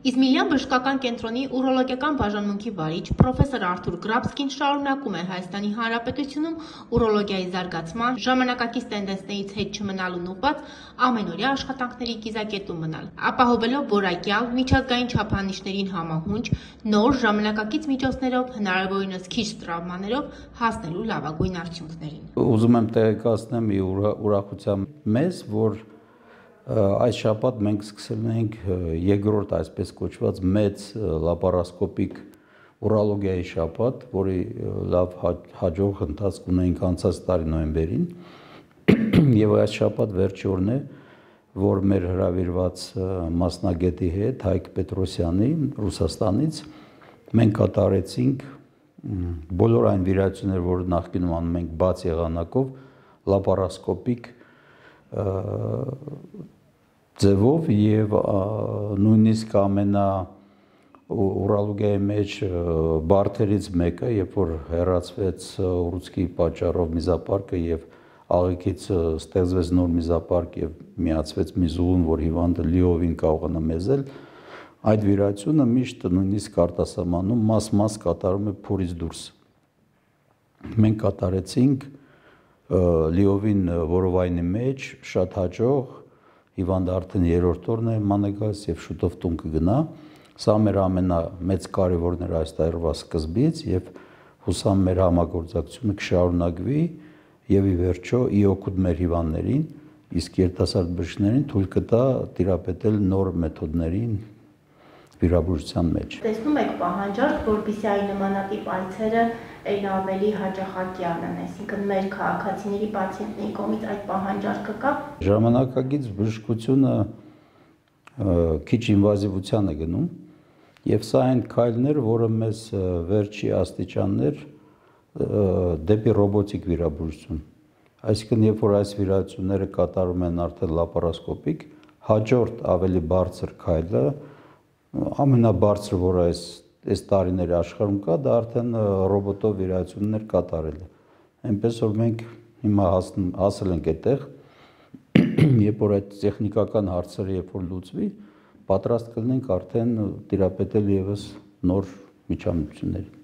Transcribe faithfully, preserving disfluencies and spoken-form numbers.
Իզմիլյան բժշկական կենտրոնի ուրոլոգիական բաժանմունքի վարիչ պրոֆեսոր Արթուր Գրաբսկին շարունակում է Հայաստանի Հանրապետությունում ուրոլոգիայի զարգացման, ժամանակակից տենդենսներից հետ չմնալուն ուղղված ամենօրյա աշխատանքների կիզակետում մնալ, ապահովելով որակյալ, միջազգային չափանիշներին համահունչ, նոր ժամանակակից միջոցներով, հնարավորինս քիչ տրավմաներով հասնելու լավագույն արդյունքներին։ Ուզում եմ տեղեկացնեմ ուրախությամբ մեզ, որ այս շաբաթ մենք սկսել ենք երկրորդ այսպես կոչված մեծ լապարասկոպիկ ուրոլոգիայի շաբաթ, որի լավ հաջող ընթացք ունենք անցած տարի նոյեմբերին, եւ այս շաբաթ վերջի օրն է, որ մեր հրավիրված մասնագետի հետ Հայկ Պետրոսյանի Ռուսաստանից մենք կատարեցինք բոլոր այն վիրահատությունները, որ նախկինում անում ենք բաց եղանակով, լապարասկոպիկ ձևով եւ նույնիսկ ամենա ուրոլոգիայի մեջ բարդերից մեկը, երբ որ հեռացվեց ուռուցքի պատճառով միզապարկը եւ աղիքից ստեղծվեց նոր միզապարկ եւ միացվեց մի զուլուն, որ հիվանդը լիովին կարողանա մեզել, այդ վիրահատությունը միշտ նույնիսկ արտասահմանում մաս-մաս կատարում է փորից դուրս։ Մենք կատարեցինք լիովին որովայնի մեջ շատ հաջող, հիվանդը արդեն երրորդ օրն է ման է գալիս եւ շուտով տուն կգնա։ Սա մեր ամենամեծ կարևորն էր այս տարվա սկզբից եւ հուսամ մեր համագործակցությունը կշարունակվի եւ ի վերջո ի օգուտ մեր հիվանդներին, իսկ երիտասարդ բժիշկներին թույլ կտա տիրապետել նոր մեթոդներին վիրաբուժության մեջ։ Տեսնում եք պահանջարկ, որպեսզի այն նմանատիպ այցերը այն ավելի հաճախակի անեն, այսինքն մեր քաղաքացիների, պացիենտների կողմից այդ պահանջարկը կա։ Ժամանակակից բժշկությունը քիչ ինվազիվության է գնում եւ սա այն քայլն էր, որը մեզ վերջի աստիճաններ դեպի ռոբոտիկ վիրաբուժություն։ Այսինքն, երբ որ այս վիրահատությունները կատարում են արդեն լապարասկոպիկ, հաջորդ ավելի բարձր քայլը, ամենաբարձրը, որ այս այս տարիների աշխարհում կա, դա արդեն ռոբոտով վիրահատություններ կատարելը։ Այնպես որ մենք հիմա հասել ենք այդտեղ, երբ որ այդ տեխնիկական հարցերը երբ որ լուծվի, պատրաստ կլինենք արդեն տիրապետել եւս նոր միջամտությունների։